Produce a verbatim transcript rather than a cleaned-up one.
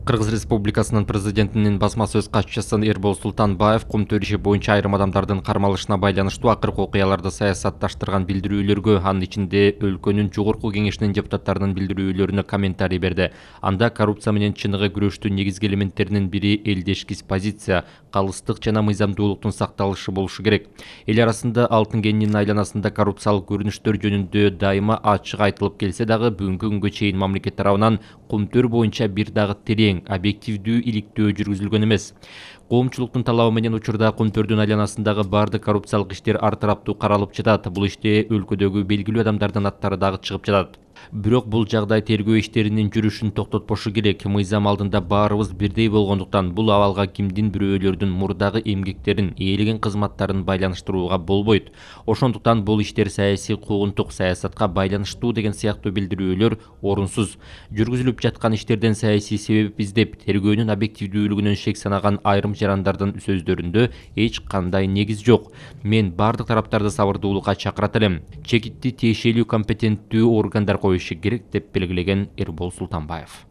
Кыргыз Республикасынын президентинин басма сөз катчысы Эрбол Султанбаев кум төр иши боюнча айрым адамдардын кармалышына байланыштуу акыркы окуяларды саясатташтырган билдирүүлөргө, анын ичинде өлкөнүн жогорку кеңешинин депутаттарынын билдирүүлөрүнө комментарий берди. Анда коррупция менен чыныгы күрөштүн негизги элементтеринин бири элдешкис позиция, калыстык жана мыйзамдуулуктун сакталышы болушу керек. Эл арасында алтын кенинин айланасында коррупциялык көрүнүштөр жөнүндө дайыма ачык айтылып келсе дагы, бүгүнкү күнгө чейин мамлекет тарабынан кум төр боюнча бир дагы терең, объективдүү иликтөө жүргүзүлгөн эмес. Коомчулуктун талабы менен учурда кум төрдүн айланасындагы бардык коррупциялык иштер ар тараптуу каралып жатат. Бул иште өлкөдөгү белгилүү адамдардын аттары дагы чыгып жатат. Бирок бул жагдай тергөө иштеринин жүрүшүн токтотпошу керек. Мыйзам алдында баарыбыз бирдей болгондуктан бул абалга кимдин бирөөлөрдүн мурдагы эмгектерин, ээлеген кызматтарын байланыштырууга болбойт. Ошондуктан бул иштер саясий куугунтук, саясатка байланыштуу деген сыяктуу билдирүүлөр орунсуз. Жүргүзүлүп жаткан иштерден саясий себеп издеп, тергөөнүн объективдүүлүгүнөн шек санаган айрым жарандардын сөздөрүндө эч кандай негиз жок. Мен бардык тараптарды сабырдуулукка чакырат элем. Чекитти тиешелүү компетенттүү органдар коюшу керек, деп белгилеген Эрбол Султанбаев.